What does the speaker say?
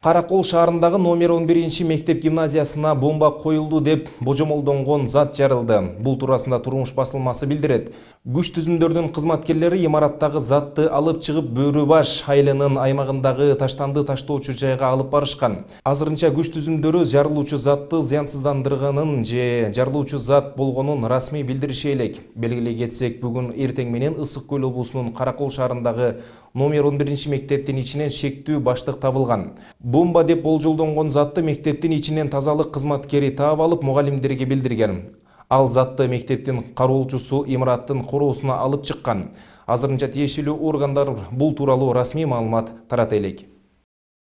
Каракол шаарындагы номер 11 мектеп гимназиясына бомба коюлду деп божомолдонгон зат жарылды. Бул туурасында Турмуш басылмасы билдирет. Күч түзүмдөрдүн кызматкерлери имараттагы затты алып чыгып Бөрүбаш айылынын аймагындагы таштанды таштоочу жайга алып барышкан. Азырынча күч түзүмдөрү жарылуучу затты зыянсыздандырганын же жарылуучу зат болгонун расмий билдириши элек. Белгилей кетсек, бүгүн эртең менен Ысык Көл облусунун Каракол шаарындагы номер 11 мектептин ичинен шектүү баштык табылган. Бомба деп болжолдонгон затты мектептин ичинен тазалык кызматкери таап алып мугалимдерге билдирген. Ал затты мектептин кароолчусу имараттын короосуна алып чыккан. Азырынча тиешелүү органдар бул тууралуу расмий маалымат тарата элек.